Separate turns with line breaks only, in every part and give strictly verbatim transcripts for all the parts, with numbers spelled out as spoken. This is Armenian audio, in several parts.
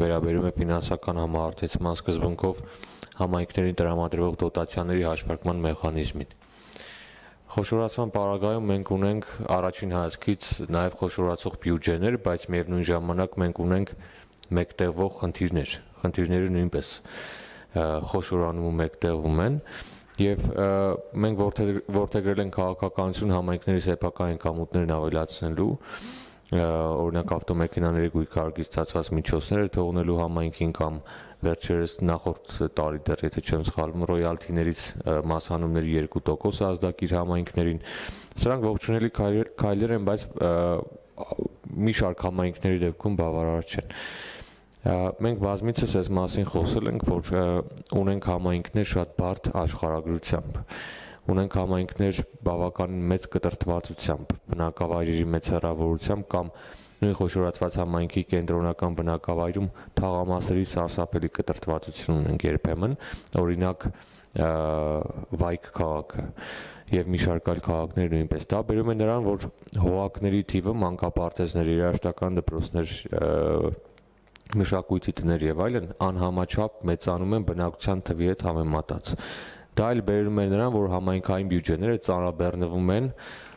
վերաբերում է ֆինանսական համահարթեցման սկզբունքով համայնքներին տրամադրվող դոտացիաների հաշվարկման մեխանիզմին։ Խոշորացման պարագայում մենք ունենք առաջին հայացքից նաև խոշորացող բյուջեներ, բայց միևնույն ժամանակ մենք ունենք մեկտեղվող խնդիրներ։ Խնդիրները նույնպես խոշորանում ու մեկտեղվում են, եւ մենք որդեգրել ենք քաղաքականություն համայնքների սեփական եկամուտներն ավելացնելու, օրինակ ավտոմեքենաների գույքարկից ստացված միջոցները թողնելու համայնքին կամ վերջերս նախորդ տարի դեռ եթե չեմ սխալվում ռոյալթիներից մասհանումների երկու տոկոս ազդակիր համայնքներին, սրանք ողջունելի քայլեր են, բայց մի շարք համայնքների դեպքում բավարար չեն։ Մենք բազմիցս այս մասին խոսել ենք, որ ունենք համայնքներ շատ բարդ աշխարհագրությամբ, ունենք համայնքներ բավականին մեծ կտրտվածությամբ, բնակավայրերի մեծ հեռավորությամբ կամ նույն խոշորացված համայնքի կենտրոնական բնակավայրում թաղամասերի սարսափելի կտրտվածություն ունենք երբեմն, օրինակ Վայք քաղաքը եւ մի շարք այլ քաղաքներ նույնպես։ Դա բերում է նրան, որ հողակների թիվը, մանկապարտեզներ, երաժշտական դպրոցներ, մշակույթի տներ եւ այլն անհամաչափ մեծանում են բնակչության թվի հետ համեմատած։ Դա էլ բերում է նրան, որ համայնքային բյուջեները ծանրաբեռնվում են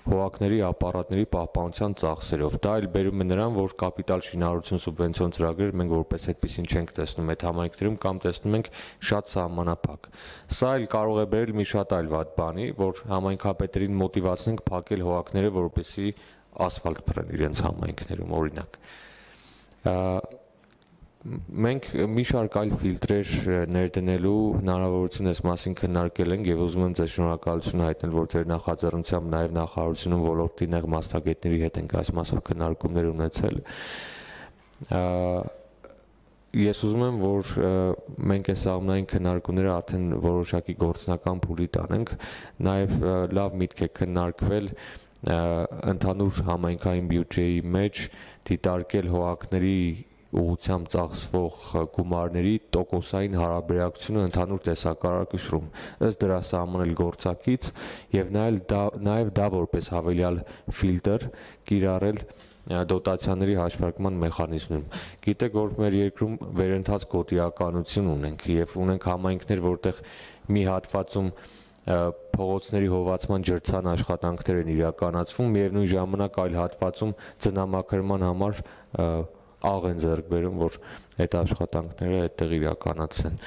հողակների ապարատների պահպանության ծախսերով։ Դա էլ բերում է նրան, որ կապիտալ շինարարություն սուբվենցիոն ծրագրեր մենք որպես այդպեսին չենք տեսնում այդ համայնքներում կամ տեսնում ենք շատ սահմանափակ։ Սա էլ կարող է բերել մի շատ այլ վատ բանի, որ համայնքապետերին մոտիվացնենք փակել հողակները, որպեսզի ասֆալտ փռեն իրենց համայնքներում, օրինակ։ Մենք մի շարք այլ ֆիլտրեր ներդնելու հնարավորություն այս մասին քննարկել ենք եւ ուզում եմ ձեզ շնորհակալություն հայտնել, որ ձեր նախաձեռնությամբ նաեւ նախարարությունում ոլորտի նեղ մասնագետների հետ ենք այս մասով քննարկումներ ունեցել։ Ես ուզում եմ, որ մենք այս աղմնային քննարկումները արդեն որոշակի գործնական փուլի տանենք, նաեւ լավ միտք է քննարկվել ընդհանուր համայնքային բյուջեի մեջ դիտարկել հողակների ուղղությամբ ծախսվող գումարների տոկոսային հարաբերակցությունը ընդհանուր տեսակարարքշռում, ըստ դրա սահմանել գործակից եւ նաեւ դա որպես հավելյալ ֆիլտր կիրառել դոտացիաների հաշվարկման մեխանիզմում։ Գիտեք, որ մեր երկրում վերընթաց գոտիականություն ունենք եւ ունենք համայնքներ, որտեղ մի հատվածում փողոցների հովացման ջրցան աշխատանքներ են իրականացվում, միևնույն ժամանակ այլ հատվածում ծնամաքրման համար աղ են ձեռք բերում, որ այդ աշխատանքները այդտեղ իրականացնեն։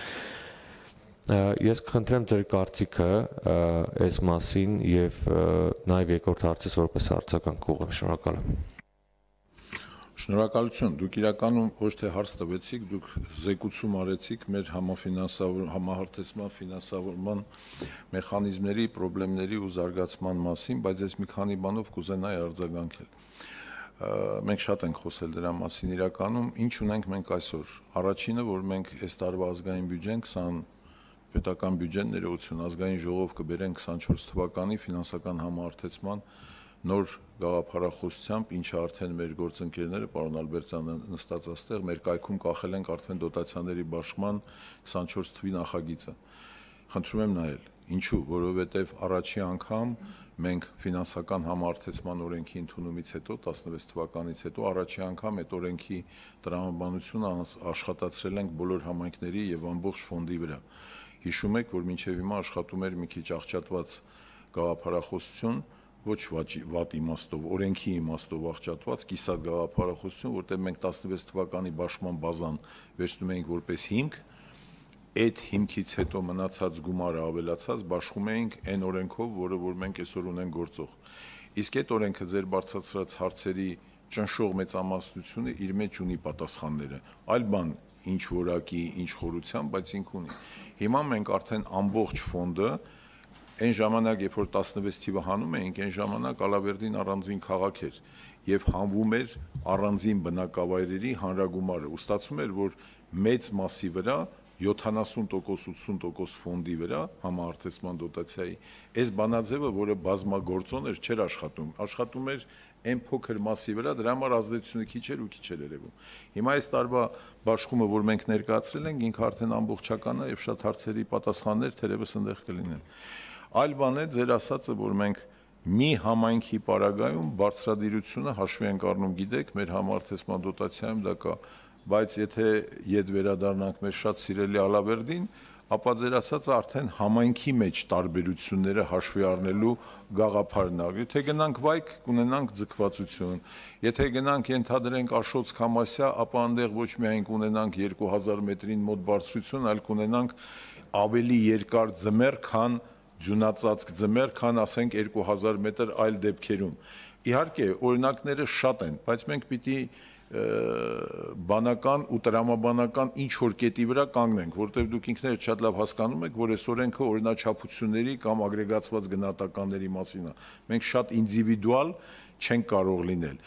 Ես կխնդրեմ ձեր կարծիքը այս մասին եւ նաեւ երկրորդ հարցից որպես հարցական կուղեմ, շնորհակալ եմ։
Շնորհակալություն, դուք իրականում ոչ թե հարց տվեցիք, դուք զեկուցում արեցիք մեր համահարթեցման ֆինանսավորման մեխանիզմների, խնդիրների ու զարգացման մասին, բայց ես մի քանի բանով կուզենայի արձագանքել։ Մենք շատ ենք խոսել դրա մասին իրականում, ինչ ունենք մենք այսօր։ Առաջինը, որ մենք այս տարվա ազգային բյուջեն քսան պետական բյուջեն ներողություն ազգային ժողով կբերեն քսանչորս թվականի ֆինանսական համահարթեցման նոր գաղափարախոսությամբ, ինչը արդեն մեր գործընկերները, պարոն Ալբերտյանը նստած այստեղ, մեր կայքում կախել ենք արդեն դոտացիաների բաշխման քսանչորս թվի նախագիծը։ Խնդրում եմ նայել։ Ինչու, որովհետև առաջի անգամ մենք ֆինանսական համահարթեցման օրենքի ընդունումից հետո տասնվեց թվականից հետո առաջի անգամ այդ օրենքի տրամաբանությունը աշխատացրել ենք բոլոր համայնքների եւ ամբողջ ֆոնդի վրա։ Հիշում եք, որ մինչեւ հիմա աշխատում էր մի քիչ աղճատված գաղափարախոսություն, ոչ վատ իմաստով, օրենքի իմաստով աղճատված կիսատ գաղափարախոսություն, որտեղ մենք տասնվեց թվականի բաշխման բազան վերցնում էինք որպես հիմք, այդ հիմքից հետո մնացած գումարը ավելացած բաշխում էինք այն օրենքով, որը որ մենք այսօր ունենք գործող։ Իսկ այդ օրենքը ձեր բարձրացրած հարցերի ճնշող մեծամասնությունը իր մեջ ունի պատասխանները։ Այլ բան, ինչ որակի, ինչ խորությամբ, բայց ինք ունի։ Հիմա մենք արդեն ամբողջ ֆոնդը այն ժամանակ, երբ որ տասնվեց թիվը հանում էինք, այն ժամանակ Ալավերդին առանձին քաղաք էր եւ հանվում էր առանձին բնակավայրերի հանրագումարը։ Ու ստացվում էր, որ մեծ մասի վրա յոթանասուն տոկոս ութսուն տոկոս ֆոնդի վրա համահարթեցման դոտացիայի այս բանաձևը, որը բազմագործոն էր, չէր աշխատում, աշխատում էր այն փոքր մասի վրա, դրա համար ազդեցությունը քիչ էր ու քիչ էր երևում։ Հիմա այս տարվա բաշխումը, որ մենք ներկայացրել ենք, ինքը արդեն ամբողջական է եւ շատ հարցերի պատասխաններ թերևս այնտեղ կլինեն։ Այլ բան է ձեր ասածը, որ մենք մի համայնքի պարագայում բարձրադիրությունը հաշվի ենք առնում, գիտեք, մեր համահարթեցման դոտացիայում դա կա բայց եթե ետ վերադառնանք մեր շատ սիրելի Ալավերդին, ապա ձեր ասածը արդեն համայնքի մեջ տարբերությունները հաշվի առնելու գաղափարն է։ Եթե գնանք Վայք, կունենանք ձգվածություն։ Եթե գնանք ենթադրենք Աշոց Քամասյա, ապա այնտեղ ոչ միայն կունենանք երկու հազար մետրին մոտ բարձրություն, այլ կունենանք ավելի երկար ձմեռ, քան ձյունածածկ ձմեռ, քան ասենք երկու հազար մետր այլ դեպքերում։ Իհարկե, օրինակները շատ են, բայց մենք պիտի բանական ու տրամաբանական ինչ որ կետի վրա կանգնենք, որտեղ դուք ինքներդ շատ լավ հասկանում եք, որ այս օրենքը օրինաչափությունների կամ ագրեգացված գնահատականների մասին է։ Մենք շատ ինդիվիդուալ չենք կարող լինել։